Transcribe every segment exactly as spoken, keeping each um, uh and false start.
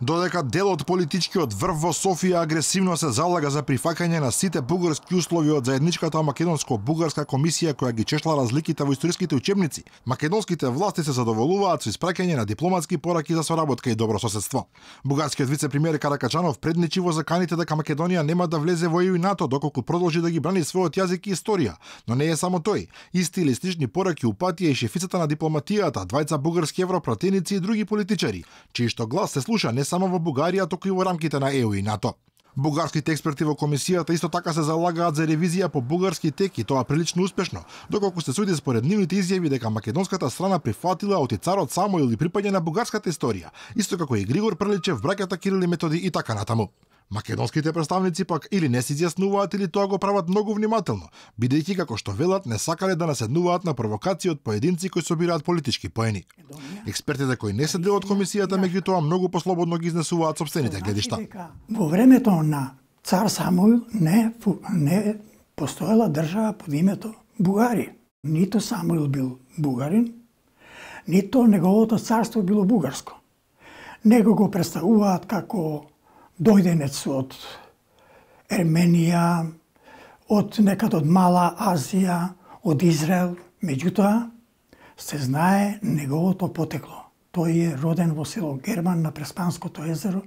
Додека дел од политичкиот врв во Софија агресивно се залага за прифаќање на сите бугарски услови од заедничката македонско-бугарска комисија која ги чешла разликите во историските учебници, македонските власти се задоволуваат со испраќање на дипломатски пораки за соработка и добро соседство. Бугарскиот вице-премиер Каракачанов предничи во заканите дека Македонија нема да влезе во Е Ю и НАТО доколку продолжи да ги брани својот јазик и историја. Но не е само тој. Исти или слични пораки упатија и шефицата на дипломатијата, двајца бугарски европратеници и други политичари, чиј што глас се слуша не само во Бугарија, туку и во рамките на Е Ю и НАТО. Бугарските експерти во комисијата исто така се залагаат за ревизија по бугарски тек и тоа прилично успешно, доколку се суди според нивните изјави дека македонската страна прифатила од царот Самуил и припаѓа на бугарската историја, исто како и Григор Прличев, браќата Кирил и Методи и така натаму. Македонските представници пак или не се изјаснуваат или тоа го прават многу внимателно, бидејќи како што велат не сакале да наседнуваат на провокации од поединци кои собираат политички поени. Експертите кои не се дел од комисијата меѓутоа многу послободно ги изнесуваат сопствените гледишта. Во времето на цар Самуил не не постоела држава под името Бугарија. Ниту Самуил бил бугарин, ниту неговото царство било бугарско. Него го представуваат како дојденец од Ерменија, од некад од Мала Азија, од Израел. Меѓутоа, се знае неговото потекло. Тој е роден во село Герман на Преспанското езеро.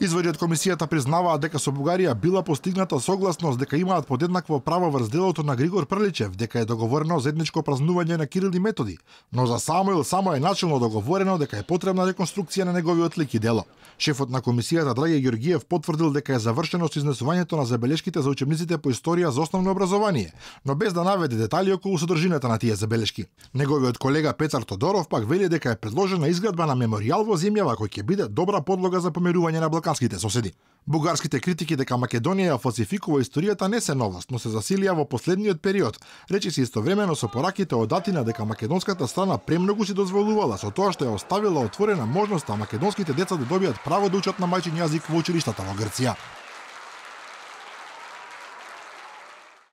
Изводи од комисијата признаваат дека со Бугарија била постигната согласност дека имаат подеднакво право врз делото на Григор Прличев, дека е договорено заедничко празнување на Кирил и Методи, но за Самуил само е начелно договорено дека е потребна реконструкција на неговиот лик и дело. Шефот на комисијата Драги Ѓоргиев потврдил дека е завршено со изнесувањето на забелешките за учебниците по историја за основно образование, но без да наведе детали околу содржината на тие забелешки. Неговиот колега Петар Тодоров пак вели дека е предложена изградба на меморијал во земјава кој ќе биде добра подлога за помирување на балканските соседи. Бугарските критики дека Македонија ја фалсификува историјата не се новост, но се засилија во последниот период. Речи се истовремено со пораките од Атина дека македонската страна премногу си дозволувала со тоа што ја оставила отворена можноста македонските деца да добијат право да учат на мајчин јазик во училиштата во Грција.